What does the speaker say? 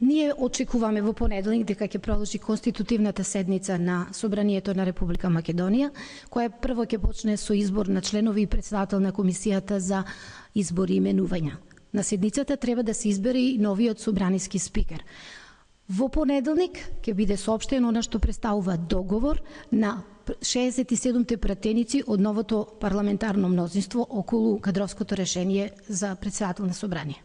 Ние очекуваме во понеделник дека ќе продолжи конститутивната седница на Собранието на Република Македонија, која прво ќе почне со избор на членови и председател на Комисијата за избори и именувања. На седницата треба да се избере и новиот собраниски спикер. Во понеделник ќе биде соопштено она што представува договор на 67 пратеници од новото парламентарно мнозинство околу кадровското решение за председател на Собрание.